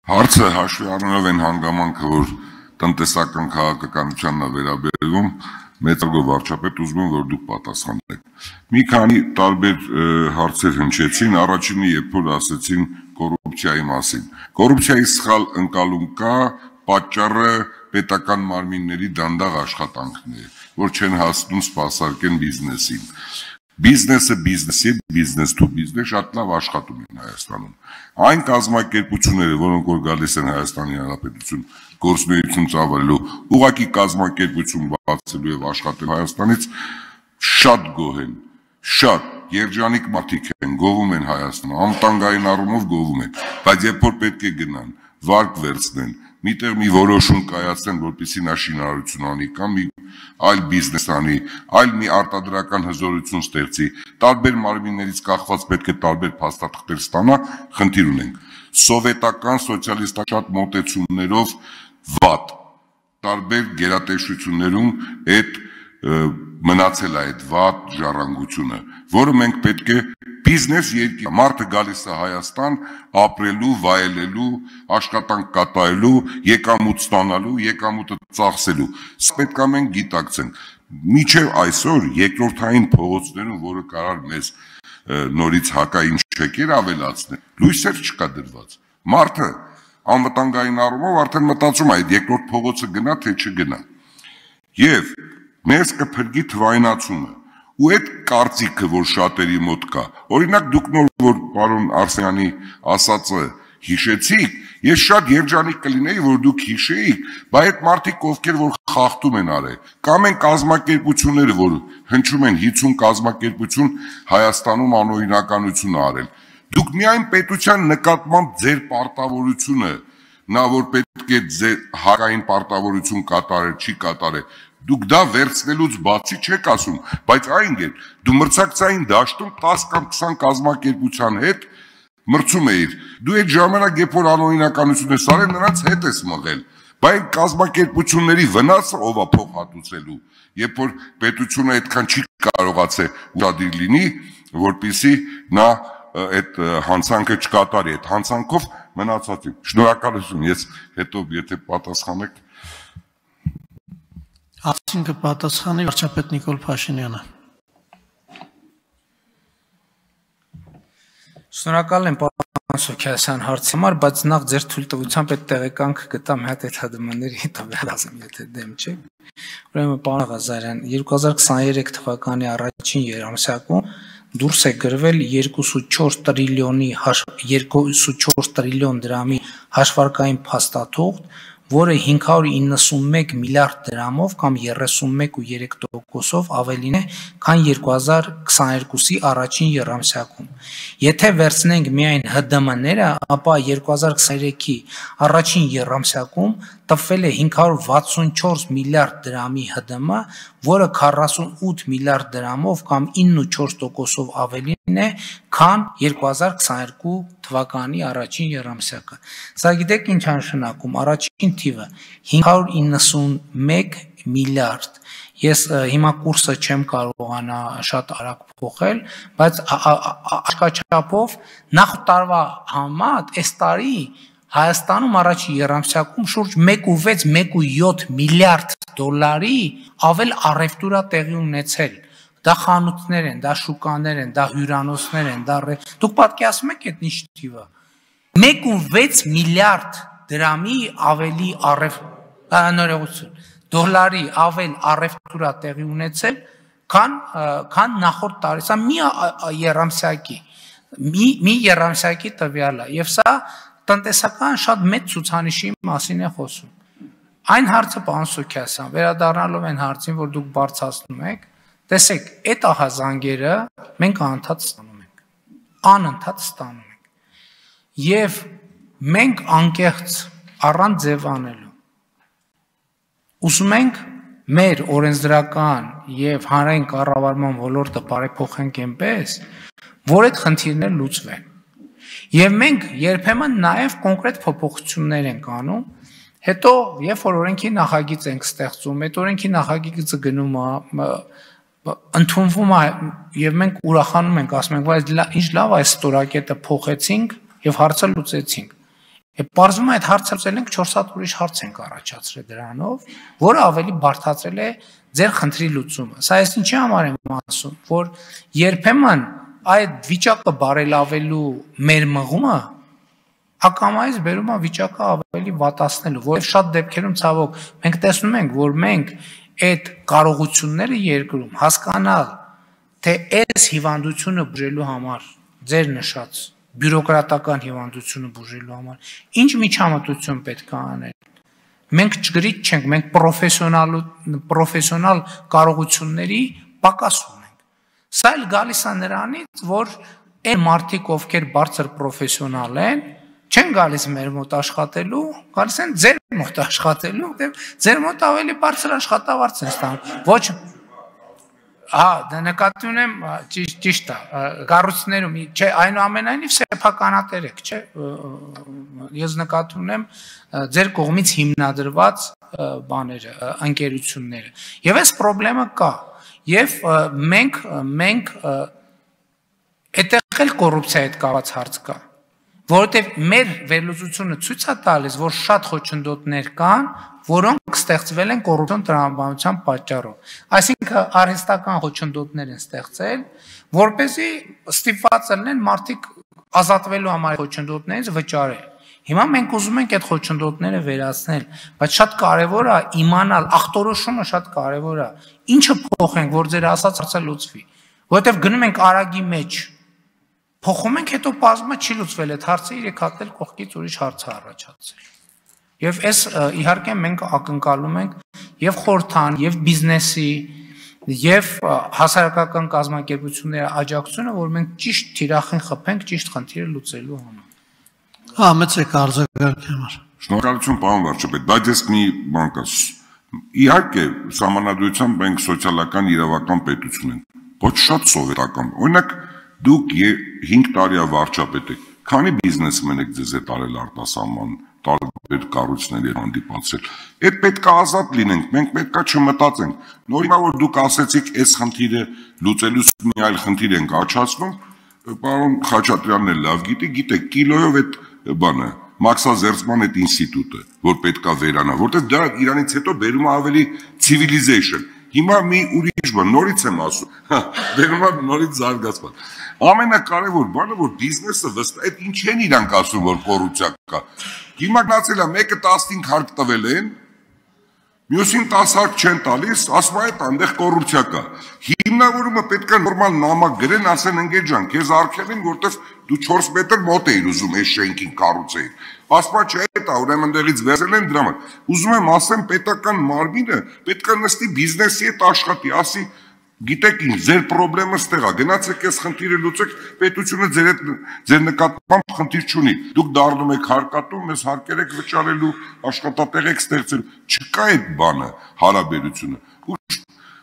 Հարցը հաշվի առնելով այն հանգամանքը, որ տնտեսական քաղաքականությանն է վերաբերվում, մեծարգո վարչապետ, ուզում եմ, որ դուք պատասխանեք։ Մի քանի տարբեր հարցեր հնչեցին, առաջինը երբ որ ասեցին կոռուպցիայի մասին։ Կոռուպցիայի սխալ ընկալում կա, պատճառը պետական մարմինների դանդաղ աշխատանքն է, որ չեն հասնում սպասարկեն բիզնեսին։ Բիզնեսը բիզնեսի, բիզնես to բիզնես շատ լավ աշխատում են Հայաստանում։ Այն կազմակերպությունները, որոնք որ գալիս են Հայաստանի Հանրապետություն գործունեություն ծավալելու, ուղղակի կազմակերպություն բացելու եւ աշխատել Հայաստանից շատ գոհ են, շատ երջանիկ մարդիկ են, գովում են Հայաստանը, անվտանգային առումով գովում են, բայց երբ որ պետք է գնան, վարկ վերցնեն, միտեղ մի որոշում կայացնեն, որպեսզի նա շինարարություն անի կամ մի այլ բիզնես անի, այլ մի արտադրական հզորություն ստեղծի, տարբեր մարմիններից կախված պետք է տարբեր փաստաթղթեր ստանա, խնդիր ունենք։ Սովետական սոցիալիստական շատ մոտեցումներով վատ, տարբեր գերատեսչություններում այդ մնացել է այդ վատ ժառանգությունը, որը մենք պետք է բիզնես երկիր, մարդը գալիս է Հայաստան ապրելու, վայելելու, աշխատանք կատարելու, եկամուտ ստանալու, եկամուտը ծախսելու։ Սա պետք է մենք գիտակցենք։ Մինչև այսօր երկրորդային փողոցներում, որը կարող մեզ նորից հակային չեկեր ավելացնել, լույսեր չկա դրված։ Մարդը անվտանգային առումով արդեն մտածում է այդ երկրորդ փողոցը գնա թե չգնա։ Եվ մեզ կփրկի թվայնացումը։ Ու այդ կարծիքը, որ շատերի մոտ կա, օրինակ դուք նոր որ պարոն Արսենյանի ասածը հիշեցիք, ես շատ երջանիկ կլինեի, որ դուք հիշեիք, բայց այդ մարդիկ ովքեր որ խախտում են արել, կամ են կազմակերպությունները, որ հնչում են 50 կազմակերպություն Հայաստանում անօրինականություն արել։ Դուք միայն պետության նկատմամբ ձեր պարտավորությունը, նա որ պետք է ձեր հակային պարտավորություն կատարել, չի կատարել, դուք դա վերցնելուց բացի չեք ասում, բայց այն գեր, դու մրցակցային դաշտում 10 կամ 20 կազմակերպության հետ մրցում էիր, դու այդ ժամանակ երբ որ անօրինականություն ես արել, նրանց հետ ես մղել, բայց կազմակերպությունների վնասը ով է փող հատուցելու, երբ որ պետությունը այդքան չի կարողացել ուշադիր լինի, որպեսզի նա այդ հանցանքը չկատարի, այդ հանցանքով մնացածին։ Շնորհակալություն, ես հետո եթե պատասխանեք Հարցին կպատասխանի վարչապետ Նիկոլ Փաշինյանը։ Շնորհակալ եմ պարոն Սոքիասյան հարցի համար, բայց նախ ձեր թույլտվությամբ այդ տեղեկանք գտամ մի հատ այդ ՀԴՄ-ների տվյալ ասեմ, եթե դեմ չեք։ Ուրեմն պարոն Ղազարյան, 2023 թվականի առաջին երամսյակում դուրս է գրվել 2.4 տրիլիոն դրամի հաշվարկային փաստաթուղթ, որը 591 միլիարդ դրամով կամ 31.3%-ով ավելին է, քան 2022-ի առաջին եռամսյակում։ Եթե վերցնենք միայն ՀԴՄ-ները, ապա 2023-ի առաջին եռամսյակում տվել է 564 միլիարդ դրամի ՀԴՄ, որը 48 միլիարդ դրամով կամ 9.4%-ով ավելին է, քան 2022 թվականի առաջին եռամսյակը։ Սա գիտեք ինչ նշանակում, առաջին թիվը 591 միլիարդ։ Ես հիմա կուրսը չեմ կարողանա շատ արագ փոխել, բայց աշկաչափով նախ տարվա համեմատ այս տարի Հայաստանում առաջին եռամսյակում շուրջ 1.6-1.7 միլիարդ դոլարի ավել առևտուր է տեղի ունեցել։ Դա խանութներ են, դա շուկաներ են, դա հյուրանոցներ են, դուք պատկերացնում եք այդ ինչ թիվը։ 1.6 միլիարդ դրամի ավելի դոլարի ավել առևտուր է տեղի ունեցել, քան նախորդ տարի։ Սա մի եռամսյակի տվյալ է, եւ սա տնտեսական շատ մեծ ցուցանիշի մասին է խոսում։ Այն հարցը, պարոն Սոքիասյան, վերադառնալով այն հարցին, որ դուք բարձրացնում եք, տեսեք, այդ ահազանգերը մենք անընդհատ ստանում ենք, անընդհատ ստանում ենք, եւ մենք անկեղծ առանց ձև անելու ուզում ենք մեր օրենսդրական եւ հանրային կառավարման ոլորտը բարեփոխենք այնպես, որ այդ խնդիրները լուծվեն։ Եվ մենք երբեմն նաև կոնկրետ փոփոխություններ ենք անում, հետո երբ որ օրենքի նախագիծ ենք ստեղծում, այդ օրենքի նախագիծը գնում է, ընդունվում է եւ մենք ուրախանում ենք, ասում ենք, բայց ինչ լավ է, այս ստորակետը փոխեցինք եւ հարցը լուծեցինք։ Եվ պարզվում է այդ հարցը ենք 4 հատ ուրիշ հարց ենք առաջացրել դրանով, որը ավելի բարդացրել է ձեր խնդրի լուծումը։ Սա ես ինչի համար եմ ասում, որ երբեմն այդ վիճակը բարելավելու մեր մղումը ակամայից բերում է վիճակը ավելի վատացնելու, որովհետև շատ դեպքերում ցավոք մենք տեսնում ենք, որ մենք այդ կարողությունները երկրում հասկանալ, թե այս հիվանդությունը բուժելու համար ձեր նշած բյուրոկրատական հիվանդությունը բուժելու համար ինչ միջամտություն պետք է անել։ Մենք ճգրիչ չենք, մենք պրոֆեսիոնալ կարողությունների պակաս ունենք։ Սա էլ գալիս է նրանից, որ այն մարդիկ, ովքեր բարձր պրոֆեսիոնալ են, չեն գալիս մեր մոտ աշխատելու, գալիս են ձեր մոտ աշխատելու, ձեր մոտ ավելի բարձր աշխատավարձ են ստանում։ Ոչ դա նկատի ունեմ, ճիշտ է, կառույցներում, չէ, այնուամենայնիվ սեփականատեր եք, չէ, ես նկատի ունեմ ձեր կողմից հիմնադրված բաները, ընկերությունները։ Եվ այս խնդրեմը կա, եւ մենք այդտեղ էլ կոռուպցիայի հետ կապված հարց կա, որովհետեւ մեր վերլուծությունը ցույց է տալիս, որ շատ խոչընդոտներ կան, որոնք ստեղծվել են կոռուպցիոն տրամաբանության պատճառով։ Այսինքն արհեստական խոչընդոտներ են ստեղծել, որպեսզի ստիպված լինեն մարդիկ ազատվելու համար խոչընդոտներից վճարել։ Հիմա մենք ուզում ենք այդ խոչընդոտները վերացնել, բայց շատ կարևոր է իմանալ, ախտորոշումը շատ կարևոր է։ Ինչը փոխենք, որ ձեր ասած հարցը լուծվի, որովհետև գնում ենք արագի մեջ, փոխում ենք, հետո բազմը չի լուծվել այդ հարցը, 3 հատ էլ կողքից ուրիշ հարց է առաջացել։ Եվ այս իհարկե մենք ակնկալում ենք եւ խորհրդան, եւ բիզնեսի, եւ հասարակական կազմակերպությունների աջակցությունը, որ մենք ճիշտ թիրախին խփենք ճիշտ խնդիրը լուծելու համար։ Մեծ արձագանքի համար։ Շնորհակալություն, պարոն վարչապետ, բայց ես մի բան կասեմ։ Իհարկե, սահմանադրությամբ մենք սոցիալական իրավական պետություն ենք, ոչ շատ սովետական։ Օրինակ, դուք 5 տարի վարչապետ եք, քանի բիզնեսմեն եք ձեզ հետ արել արտասահման տարբեր կառույցների հանդիպացել։ Այդ պետք է ազատ լինենք, մենք պետք է չմտածենք։ Նոր հիմա որ դուք ասեցիք, այս խնդիրը լուծելուց մի այլ խնդիր ենք աչացնում, պարոն Խաչատրյանն էլ լավ գիտեք կիլոյով այդ բանը մաքսազերծման այդ ինստիտուտը, որ պետք է վերանա, որտեղ դա իրանից հետո բերում է ավելի civilization։ Հիմա մի ուրիշ բան, նորից եմ ասում, բերում է նորից զարգացման։ Ամենակարևոր բանը, որ բիզնեսը վստահ, այդ ինչ են իրանք ասում, որ կոռուպցիա կա։ Հիմա գնացել է, մեկը 15 հարկ տվել են, մյուսին 10 հարկ չեն տալիս, ասում է, այնտեղ կոռուպցիա կա։ Հիմնավորումը պետք է նորմալ նամակ գրեն, ասեն ընկեր ջան, քեզ արգել են, որտեվ դու 4 մետր մոտ էիր ուզում այս շենքին կառուցեիր։ Ասում է, չէ, դա ուրեմն դեղից վերցել են դրա համար։ Ուզում եմ ասեմ, պետական մարմինը պետք է նստի բիզնեսի հետ աշխատի, ասի գիտեք ինչ, ձեր խնդրեմը ստեղ է, գնացեք այս խնդիրը լուծեք, պետությունը ձեր նկատմամբ խնդիր չունի։ Դուք դառնում եք հարկատու, մեզ հարկեր եք վճարելու, աշխատատեղ եք ստեղծելու։ Չկա այդ բանը, հարաբերությունը։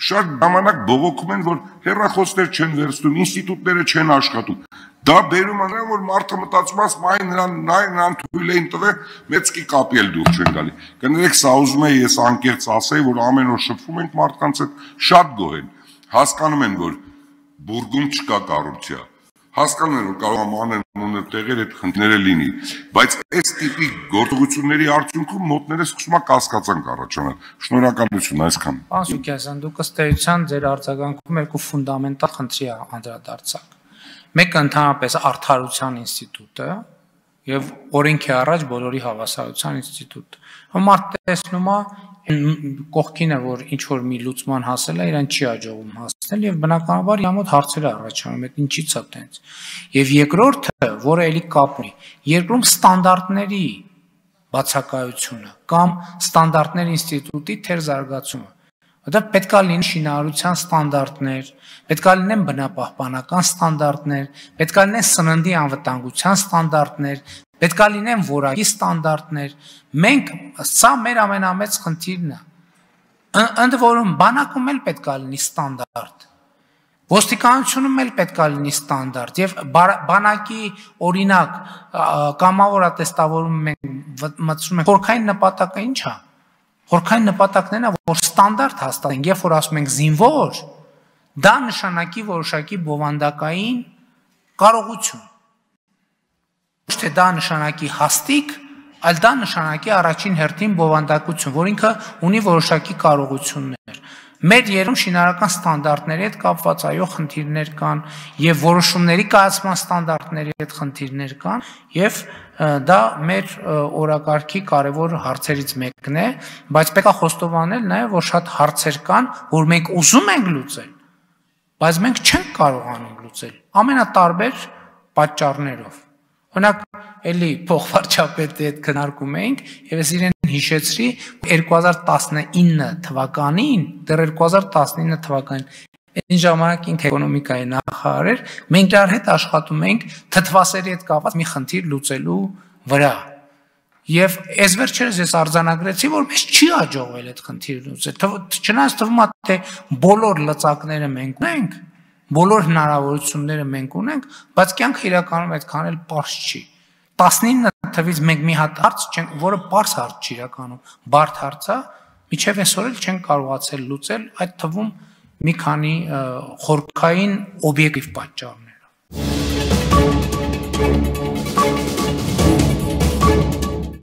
Շատ ժամանակ բողոքում են, որ հեռախոսներ չեն վերցնում, ինստիտուտները չեն աշխատում։ Դա բերում է նրան, որ մարդը մտածում է, նրան թույլ էին տվել, մեծկի կապի էլ դուր չեն գալի։ Կներեք, սա ուզում եմ ես անկեղծ ասեի, որ ամեն օր շփվում ենք մարդկանց հետ, շատ գոհ են։ Հասկանում են, որ բուրգում չկա կոռուպցիա։ Հասկանում են, որ կարող է մանր տեղեր այդ խնդիրները լինի, բայց այս տիպի գործողությունների արդյունքում մոտները սկսում է կասկածանք առաջանալ։ Շնորհակալություն, այսքան։ Պարոն Սուքիազյան, դուք ըստ էության ձեր արձագանքում երկու ֆունդամենտալ խնդրի անդրադարձաք։ Մեկը ընդհանրապես արդարության ինստիտուտը եւ օրենքի առաջ բոլորի հավասարության ինստիտուտը։ Մարդ տեսնում է կողքինը, որ ինչ որ մի լուծման հասել է, իրան չի աջողում հասնել եւ բնականաբար իր մոտ հարցեր է առաջանում, այդ ինչի՞ց է տենց։ Եվ երկրորդը, որը էլի կապ ունի, երկրում ստանդարտների բացակայությունը կամ ստանդարտներ ինստիտուտի թեր զարգացումը։ Որտեղ պետք է լինեն շինարարության ստանդարտներ, պետք է լինեն բնապահպանական ստանդարտներ, պետք է լինեն սննդի անվտանգության ստանդարտներ, պետք է լինեն որակի ստանդարտներ։ Մենք սա մեր ամենամեծ խնդիրն է։ Ընդ որում բանակում էլ պետք է լինի ստանդարտ։ Ոստիկանությունում էլ պետք է լինի ստանդարտ եւ բանակի օրինակ կամավորատեստավորում մենք մտցնում ենք խորքային նպատակը ի՞նչ է։ Խորքային նպատակն է, որ ստանդարտ հաստատենք, երբ որ ասում ենք զինվոր, դա նշանակի որոշակի բովանդակային կարողություն։ Ոչ թե դա նշանակի հաստիկ այլ դա նշանակի առաջին հերթին բովանդակություն, որ ինքը ունի որոշակի կարողություններ։ Մեր երում շինարարական ստանդարտների հետ կապված այո խնդիրներ կան եւ որոշումների կայացման ստանդարտների հետ խնդիրներ կան եւ դա մեր օրակարգի կարևոր հարցերից մեկն է, բայց պետք է խոստովանել նաեւ որ շատ հարցեր կան, որ մենք ուզում ենք լուծել, բայց մենք չենք կարողանում լուծել ամենատարբեր պատճառներով։ Օրինակ, էլի փոխվարչապետի հետ քննարկում էինք եւ ես իրեն հիշեցրի 2019 թվականին, դեռ 2019 թվականին այն ժամանակ ինքը էկոնոմիկայի նախարար էր, մենք դեռ հետ աշխատում էինք թթվասերի հետ կապված մի խնդիր լուծելու վրա։ Եվ այս վերջերս ես արձանագրեցի, որ մեզ չի հաջողվել այդ խնդիրը լուծել։ Չնայած թվում է թե բոլոր լծակները մենք ունենք, բոլոր հնարավորությունները մենք ունենք, բայց կյանքը իրականում այդքան էլ պարզ չի։ 19 թվից մենք մի հատ հարց չենք, որը պարզ հարց չի իրականում, բարդ հարց է, մինչև այսօր էլ չենք կարողացել լուծել, այդ թվում մի քանի խորքային օբյեկտիվ պատճառներով։